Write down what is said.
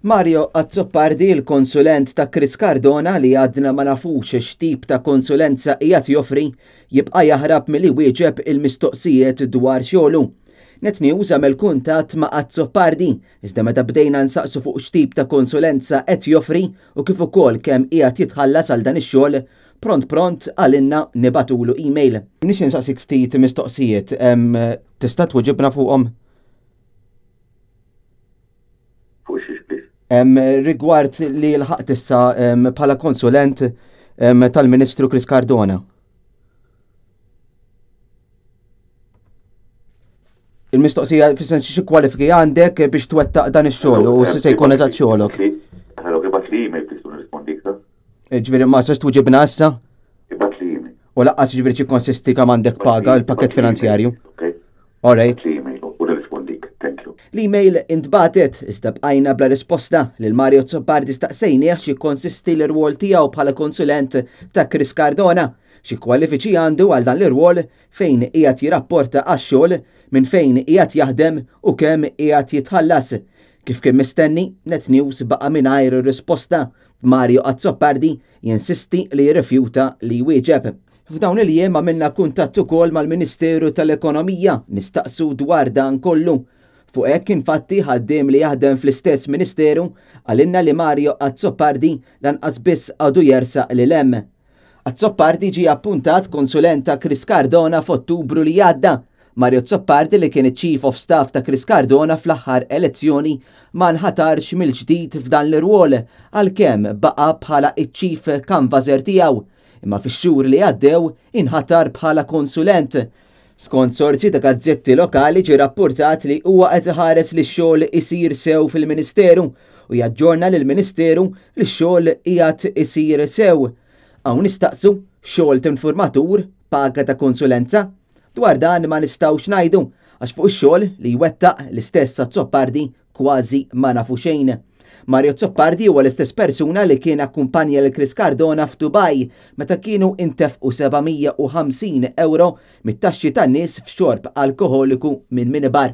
Mario Azzopardi, il-konsulent ta' Chris Cardona li għadna ma nafux x'tip ta' konsulenza qiegħed joffri, jibqa' jaħrab milli jwieġeb il-mistoqsijiet dwar xogħlu. Net News għamel kuntatt ma' Azzopardi, iżda meta bdejna nsaqsu fuq x'tip ta' konsulenza qed joffri u kif ukoll kemm qiegħed jitħallas għal dan ix-xogħol, pront pront qalilna nibagħtulu email. Nixtieq nsaqsik ftit mistoqsijiet, tista' tweġibna fuqhom? Fuq xiex please? Rigward li lħaqt issa bħala konsulent tal-Ministru Chris Cardona. Il-mistoqsija fis-sens xi kwalifiki għandek biex twettaq dan ix-xogħol u se jkun eżatt xogħolok. Hello, ibgħat li email tista' nirrispondik ta'. Ġifieri ma sax tweġibna issa? Ibgħat li email. U laqqas ġifieri xi konsisti kemm għandek paga l-pakket finanzjarju. Okay. All right. L-email intbagħtet, iżda bqajna bla risposta. Lil Mario Azzopardi staqsejnieh x'jikkonsisti l-irwol tiegħu bħala konsulent ta' Chris Cardona, xi kwalifiċi għandu għal dan l-irwol, fejn qiegħed jirrapporta għax-xogħol, minn fejn qiegħed jaħdem u kemm qiegħed jitħallas. Kif kien mistenni, Net News baqa' mingħajr risposta, b'Mario Azzopardi jinsisti li jirrifjuta li jwieġeb. F'dawn il-jiem għamilna kuntatt ukoll mal-Ministeru tal-Ekonomija nistaqsu dwar dan kollu. Fuq hekk infatti ħaddiem li jaħdem fl-istess Ministeru qalilna li Mario Azzopardi lanqas biss għadu jersaq lil hemm. Azzopardi ġie appuntat konsulent ta' Chris Cardona f'Ottubru li għadda. Mario Azzopardi li kien iċ-Chief of Staff ta' Chris Cardona fl-aħħar elezzjoni ma nħatarx mill-ġdid f'dan l-irwol għalkemm baqa' bħala ċ-Chief Canvasser tiegħu. Imma fix-xhur li għaddew inħatar bħala konsulent. Skont sorsi ta' gazzetti lokali ġie rappurtat li huwa qed iħares li x-xogħol isir sew fil-Ministeru u jaġġorna lill-Ministeru li x-xogħol qiegħed isir sew. Hawn nistaqsu, xogħol t'informatur, paga ta' konsulenza? Dwar dan ma nistgħux ngħidu għax fuq ix-xogħol li jwettaq l-istess Azzopardi Kważi ma nafu xejn. Mario Azzopardi huwa l-istess persuna li kien akkumpanja lil Chris Cardona f'Dubai meta kienu intefqu 750 ewro mit-taxxi tan-nies f'xorb alkoħoliku minn minibar.